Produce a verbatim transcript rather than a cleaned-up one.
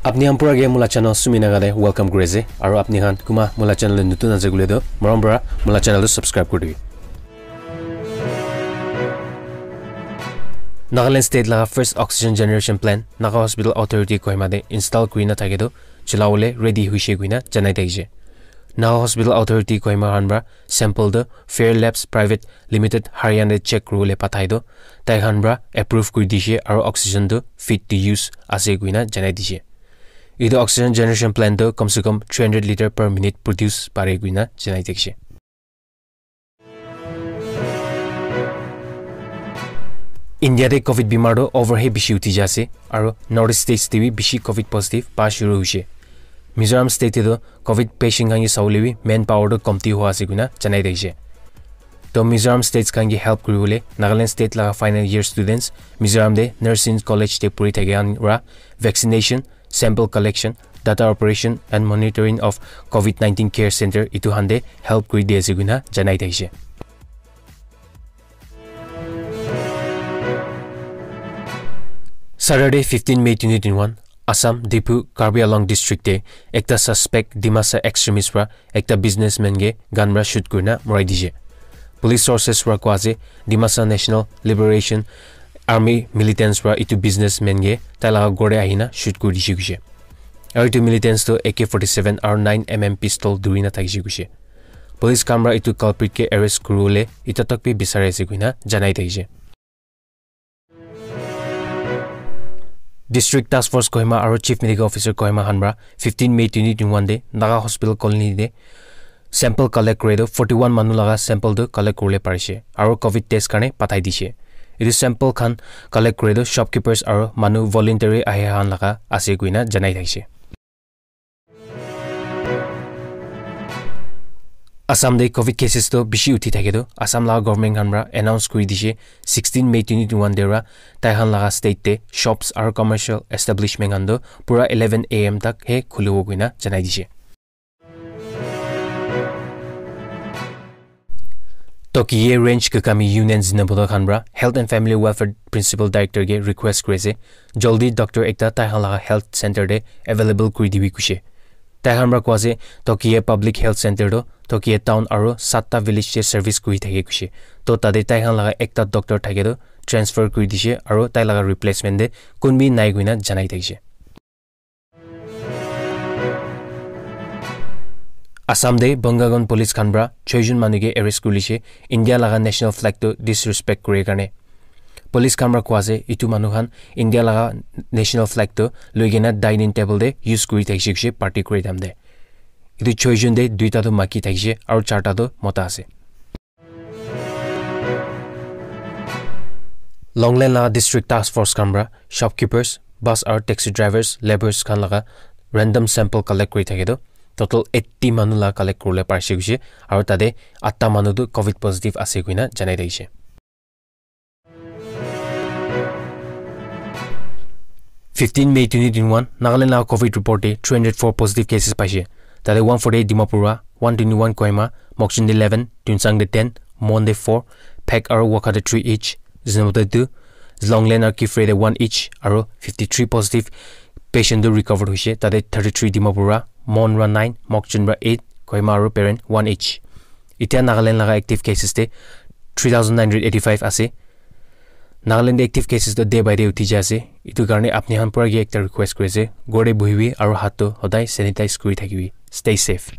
Apni khan pura ke mula channel Sumi Naga te welcome kuri ase, aru apni khan kuma mula channel te nutun ase koile toh, morom para mula channel tu subscribe kuri dibi. Nagaland State laga first oxygen generation plant Naga Hospital Authority Kohima te install kuri na thake toh, cholawole ready hoise koina janai thakishe. Naga Hospital Authority Kohima khan para sample tu Fair Labs Private Limited Haryana te check kuribole pathai toh, tai khan para approve kuri dishe aru oxygen tu fit to use ase koina janai dishe. Etu oxygen generation plant tu kam se kam three hundred liter per minute produce pare koina janai thakishe. India te covid bimar tu over he bishi uthi ja ase, aru North East states te bi bishi covid positive pa shuru hoise. Mizoram state te tu covid patient khan ke sabole bi manpower tu komti hua ase koina janai thakishe. To Mizoram states khan ke help kuribole Nagaland state laga final year students Mizoram te nursing college te puri thake khan para vaccination, sample collection, data operation and monitoring of covid nineteen care center etu khan te help kuri di ase koina janai thakishe. Saturday, fifteen May twenty twenty-one, Assam, Diphu, Karbi Anglong district te ekta suspect Dimasa extremist para ekta businessman ke gun para shoot kurina morai dishe. Police sources para koa ase, Dimasa National Liberation Army militants para etu businessman ke tai laga ghor te ahina shoot kuri dishe koishe. Aru etu militants tu A K forty-seven aru nine M M pistol dhuri na thakishe koishe. Police khan para etu culprit ke arrest kuribole eta tak bi bisari ase koina janai thakishe. District Task Force Kohima aru Chief Medical Officer Kohima khan para fifteen May twenty twenty-one te Naga Hospital Colony te sample collect kure toh forty-one manu laga sample tu collect kuribole parishe aru covid test karne pathai dishe. Etu sample khan collect kure toh shopkeepers aru manu voluntary ahi khan laga ase koina janai thakishe. Assam te covid cases toh bishi uthi thake toh Assam laga government khan para announce kuri dishe sixteen May twenty twenty-one te para tai khan laga state te shops aru commercial establishment khan toh pura eleven A M tak he khulibo koina janai dishe. Tokiye Range Kakami Union Zinaboda khan para Health and Family Welfare Principal Director ke request kuri ase, jaldi doctor ekta tai khan laga health center te available kuri dibi koishe. Tai khan para koa ase, Tokiye Public Health Center toh Tokiye town aru satta village te service kuri thake koishe. To tate tai khan laga ekta doctor thake toh transfer kuri dishe aru tai laga replacement te kun bi nai koina janai thakishe. Assam te Bangagon police khan para choi jon manu ke arrest kuri lishe, India laga national flag tu disrespect kuri karne. Police khan para koa ase, etu manu khan India laga national flag tu loi kena dining table te use kuri thakishe koishe party kuri time te. Etu choi jon te duita tu maiki thakishe aru charta tu mota ase. Longlen laga district task force khan para shopkeepers, bus aru taxi drivers, labourers khan laga random sample collect kuri thake toh total eighty manu laga collect kuribole parishe koishe aru tate atta manu tu covid positive ase koina janai thakishe. Fifteen May twenty twenty-one, Nagaland laga covid report te three hundred four positive cases paishe. Tate one forty-eight Dimapur para, one twenty-one Kohima, Mokokchung te eleven, Tuensang te ten, Mon te four, Phek aru Wokha te three each, Zunheboto te two, Longlen aru Kiphire te one each, aru fifty-three positive patient tu recovered hoishe, tate thirty-three Dimapur para, Mon para nine, Mokokchung para eight, Kohima aru Peren one each. Etia Nagaland laga active cases te three thousand nine hundred eighty-five ase. Nagaland te active cases tu day by day uthi jai ase. Etu karne apni khan para ke ekta request kuri ase, ghor te bohibi aru hath tu hodai sanitize kuri thakibi. Stay safe.